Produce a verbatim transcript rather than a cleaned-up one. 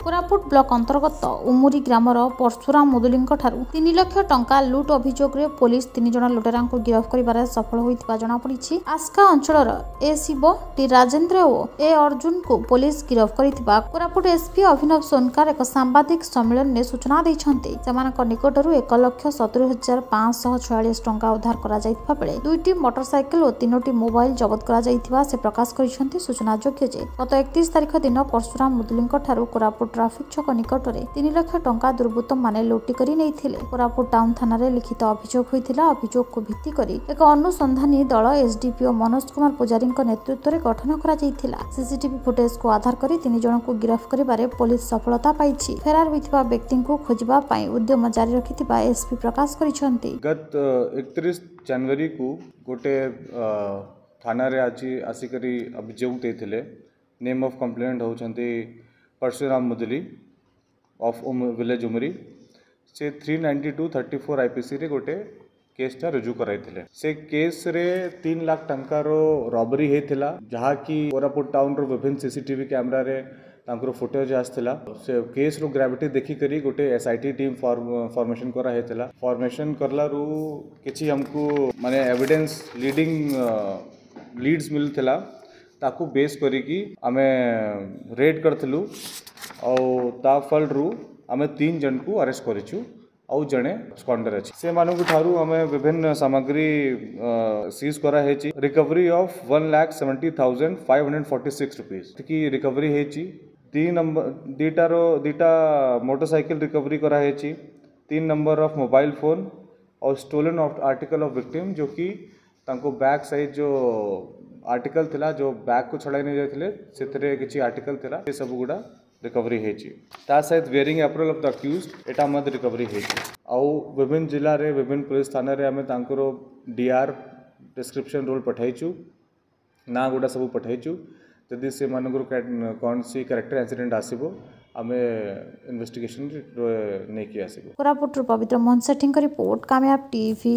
Koraput block ଅନ୍ତର୍ଗତ ଉମୁରି ଗ୍ରାମର ପରଶୁରାମ ମୁଦୁଲିଙ୍କ ଠାରୁ ତିନି ଲକ୍ଷ ଟଙ୍କା ଲୁଟ୍ ଅଭିଯୋଗରେ ପୋଲିସ ତିନି ଜଣ ଲୁଟେରାଙ୍କୁ ଗିରଫ କରିବାରେ ସଫଳ ହୋଇଥିବା ଜଣାପଡ଼ିଛି। ଆସ୍କା ଅଞ୍ଚଳର ଏ ଶିବ, ଟି ରାଜେନ୍ଦ୍ର ଓ ଏ ଅର୍ଜୁନଙ୍କୁ ପୋଲିସ ଗିରଫ କରିଥିବା କୋରାପୁଟ ଏସପି ଅଭିନବ ସୋନକାର ଏକ ସାମ୍ବାଦିକ ସମ୍ମିଳନୀରେ ସୂଚନା ଦେଇଛନ୍ତି। ସେମାନଙ୍କ ନିକଟରୁ ଏକ ଲକ୍ଷ ସତୁରି ହଜାର ପାଞ୍ଚଶହ ଛୟାଳିଶ ଟଙ୍କା ଉଦ୍ଧାର କରାଯାଇଥିବା ବେଳେ ଦୁଇଟି ମୋଟରସାଇକେଲ ଓ ତିନୋଟି ମୋବାଇଲ ଜବତ କରାଯାଇଥିବା ସେ ପ୍ରକାଶ କରିଛନ୍ତି। ସୂଚନାଯୋଗ୍ୟ ଯେ ଗତ ଏକତିରିଶ ତାରିଖ ଦିନ ପରଶୁରାମ ମୁଦୁଲିଙ୍କ ଠାରୁ କୋରାପୁଟ ଟ୍ରାଫିକ ଛକ ନିକଟରେ ତିନି ଲକ୍ଷ ଟଙ୍କା ଦୁର୍ବୃତ୍ତମାନେ ଲୁଟି କରି ନେଇଥିଲେ। କୋରାପୁଟ ଟାଉନ ଥାନାରେ ଲିଖିତ ଅଭିଯୋଗ ହୋଇଥିଲା। ଅଭିଯୋଗକୁ ଭିତ୍ତି କରି ଏକ ଅନୁସନ୍ଧାନୀ ଦଳ ଏସଡିପିଓ ମନୋଜ କୁମାର ପୂଜାରୀଙ୍କ ନେତୃତ୍ୱରେ ଗଠନ କରାଯାଇଥିଲା। ସିସିଟିଭି ଫୁଟେଜକୁ ଆଧାର କରି ତିନି ଜଣଙ୍କୁ ଗିରଫ କରିବାରେ ପୋଲିସ ସଫଳତା ପାଇଛି। ଫେରାର ହୋଇଥିବା ବ୍ୟକ୍ତିଙ୍କୁ ଖୋଜିବା ପାଇଁ ଉଦ୍ୟମ ଜାରି ରଖିଥିବା ଏସପି ପ୍ରକାଶ କରିଛନ୍ତି। ଗତ ଏକତିରିଶ ଜାନୁଆରୀକୁ ଗୋଟେ ଅ, ଥାନାରେ ଆଜି ଆସିକରି ଅଭିଯୋଗ ଦେଇଥିଲେ। ନେମ୍ ଅଫ୍ କମ୍ପ୍ଲେନେଣ୍ଟ ହେଉଛନ୍ତି ପରଶୁରାମ ମୁଦୁଲି ଅଫ୍ ଭିଲେଜ ଉମରି। ସେ three ninety two, thirty four ଆଇପିସିରେ ଗୋଟେ କେସ୍ଟା ରୁଜୁ କରାଇଥିଲେ। ସେ କେସ୍ରେ ତିନି ଲାଖ ଟଙ୍କାର ରବରି ହେଇଥିଲା, ଯାହାକି କୋରାପୁଟ ଟାଉନର ବିଭିନ୍ନ ସିସିଟିଭି କ୍ୟାମେରାରେ ତାଙ୍କର ଫୁଟେଜ୍ ଆସିଥିଲା। ସେ କେସ୍ର ଗ୍ରାଭିଟି ଦେଖିକରି ଗୋଟେ S I T team formation କରାହେଇଥିଲା। ଫର୍ମେସନ୍ କଲାରୁ କିଛି ଆମକୁ ମାନେ ଏଭିଡେନ୍ସ ଲିଡ଼ିଂ ଲିଡ୍ସ ମିଳିଥିଲା। ତାକୁ ବେସ୍ କରିକି ଆମେ ରେଡ୍ କରିଥିଲୁ ଆଉ ତା ଫଳରୁ ଆମେ ତିନି ଜଣକୁ ଆରେଷ୍ଟ କରିଛୁ ଆଉ ଜଣେ ଆବସ୍କଣ୍ଡର ଅଛି। ସେମାନଙ୍କ ଠାରୁ ଆମେ ବିଭିନ୍ନ ସାମଗ୍ରୀ ସିଜ୍ କରାହେଇଛି। Recovery of one lakh seventy thousand five hundred forty six rupees ଏତିକି ରିକଭରି ହେଇଛି। ଦୁଇ ନମ୍ବର ଦୁଇଟାର ଦୁଇଟା ମୋଟରସାଇକେଲ ରିକଭରି କରାହେଇଛି, ତିନି ନମ୍ବର ଅଫ୍ ମୋବାଇଲ ଫୋନ୍ ଆଉ ଷ୍ଟୋଲେନ୍ ଆର୍ଟିକଲ୍ ଅଫ୍ ଭିକ୍ଟିମ୍, जो କି ତାଙ୍କୁ ବ୍ୟାକ୍ ସାଇଜ୍ ଯେଉଁ ଆର୍ଟିକଲ୍ ଥିଲା, ଯେଉଁ ବ୍ୟାଗ୍କୁ ଛଡ଼ାଇ ନେଇଯାଇଥିଲେ, ସେଥିରେ କିଛି ଆର୍ଟିକଲ୍ ଥିଲା, ସେ ସବୁ ଗୁଡ଼ା ରିକଭରି ହେଇଛି। ତା ସହିତ wearing apparel of the accused, ଏଇଟା ମଧ୍ୟ ରିକଭରି ହେଇଛି। ଆଉ ବିଭିନ୍ନ ଜିଲ୍ଲାରେ, ବିଭିନ୍ନ ପୋଲିସ ଥାନାରେ ଆମେ ତାଙ୍କର ଡିଆର୍ ଡିସ୍କ୍ରିପ୍ସନ୍ ରୋଲ୍ ପଠାଇଛୁ, ନାଁ ଗୁଡ଼ା ସବୁ ପଠାଇଛୁ। ଯଦି ସେମାନଙ୍କର କୌଣସି କ୍ୟାରେକ୍ଟର ଇନସିଡେଣ୍ଟ ଆସିବ, ଆମେ ଇନଭେଷ୍ଟିଗେସନ୍ ନେଇକି ଆସିବୁ। କୋରାପୁଟରୁ ପବିତ୍ର ମୋହନ ସେଠୀଙ୍କ ରିପୋର୍ଟ, କାମୟାବ ଟିଭି।